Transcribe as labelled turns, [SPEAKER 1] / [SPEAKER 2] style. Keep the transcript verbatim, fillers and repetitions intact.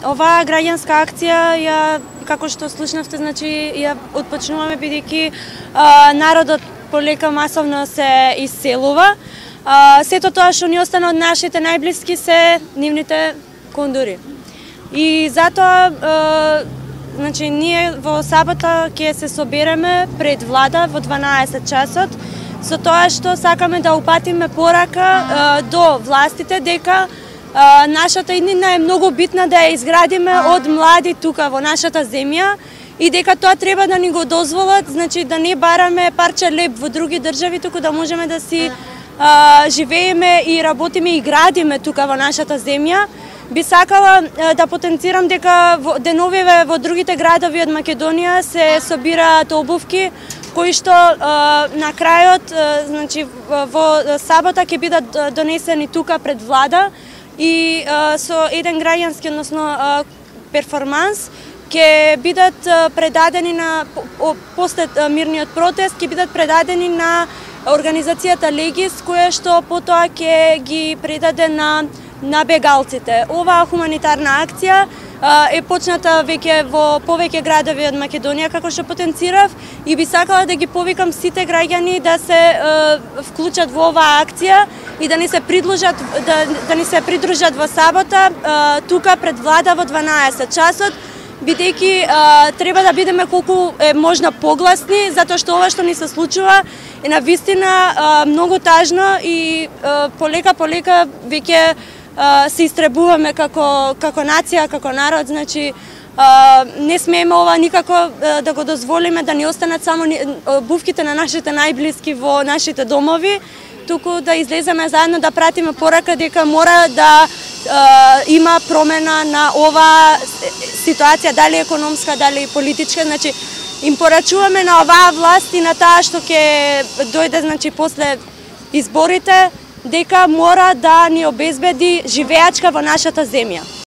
[SPEAKER 1] оваа граѓанска акција ја, како што слушнавте, значи ја отпочнуваме бидејќи народот полека масовно се исселува. А, сето тоа што ни остана од нашите најблиски се нивните кондури. И затоа а, значи ние во сабота ќе се собереме пред влада во дванаесет часот со тоа што сакаме да упатиме порака а, до властите дека а, нашата иднина е многу битна да ја изградиме од млади тука во нашата земја и дека тоа треба да ни го дозволат, значи да не бараме парче леб во други држави, туку да можеме да си а, живееме и работиме и градиме тука во нашата земја. Би сакала а, да потенцирам дека во деновиве во другите градови од Македонија се собираат обувки кои што а, на крајот, а, значи во сабота ќе бидат донесени тука пред влада и а, со еден граѓански, односно а, перформанс ќе бидат предадени на после мирниот протест, ќе бидат предадени на организацијата Легис, која што потоа ќе ги предаде на на бегалците. Оваа хуманитарна акција е почната веќе во повеќе градови од Македонија, како што потенцирав, и би сакала да ги повикам сите граѓани да се вклучат во оваа акција и да ни се придружат да, да ни се придружат во сабота тука пред влада во дванаесет часот, бидејќи треба да бидеме колку е можна погласни, затоа што ова што ни се случува е навистина многу тажно и полека полека веќе се истребуваме како како нација, како народ, значи не смееме ова никако да го дозволиме да ни останат само обувките на нашите најблиски во нашите домови, туку да излеземе заедно да пратиме порака дека мора да има промена на оваа ситуација, дали економска, дали политичка, значи им порачуваме на оваа власт и на таа што ќе дојде, значи после изборите, дека мора да ни обезбеди живеачка во нашата земја.